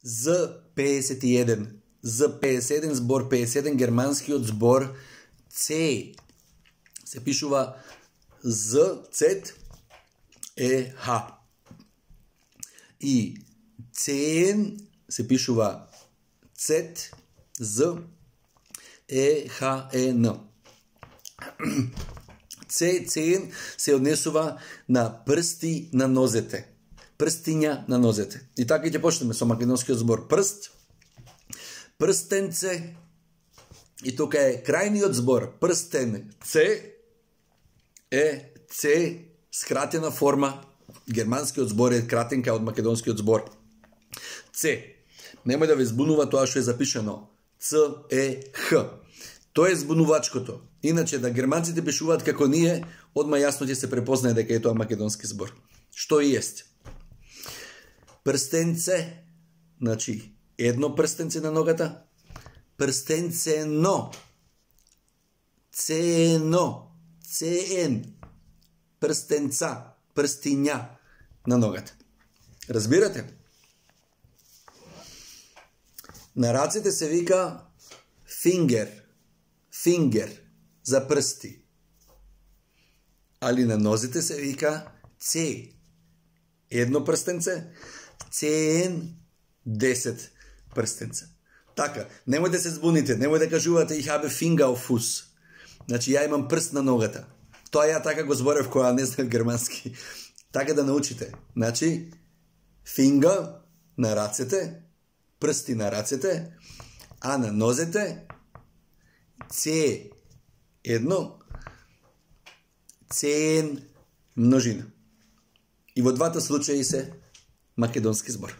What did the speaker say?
Z51. Z51 збор 51, германскиот збор C се пишува Z, E, H. И CN се пишува Z, Z, E, H, E, N. CN се однесува на прсти на нозете. Прстиња на нозете. И така ќе почнеме со македонскиот збор прст, прстенце, и тука е крајниот збор прстен Ц е Ц скратена форма. Германскиот збор е кратенка од македонскиот збор Ц. Немој да ве збунува тоа што е запишано Ц е Х. Тоа е збунувачкото. Иначе да германците пишуваат како ние, одма јасно ќе се препознае дека е тоа македонски збор. Што и ест? Прстенце, значи едно прстенце на ногата, прстенцено, цено, цен, прстенца, прстиња на ногата. Разбирате? На рацете се вика finger, за прсти. Али на нозите се вика C. Едно прстенце, CN 10 прстенца. Така, немој да се збуните, немој да кажувате ich habe Finger auf Fuß. Значи, ја имам прст на ногата. Тоа ја така го зборев која не знам германски. Така да научите. Значи, finger на рацете, прсти на рацете, а на нозете C едно, CN множина. И во двата случаи се македонски збор.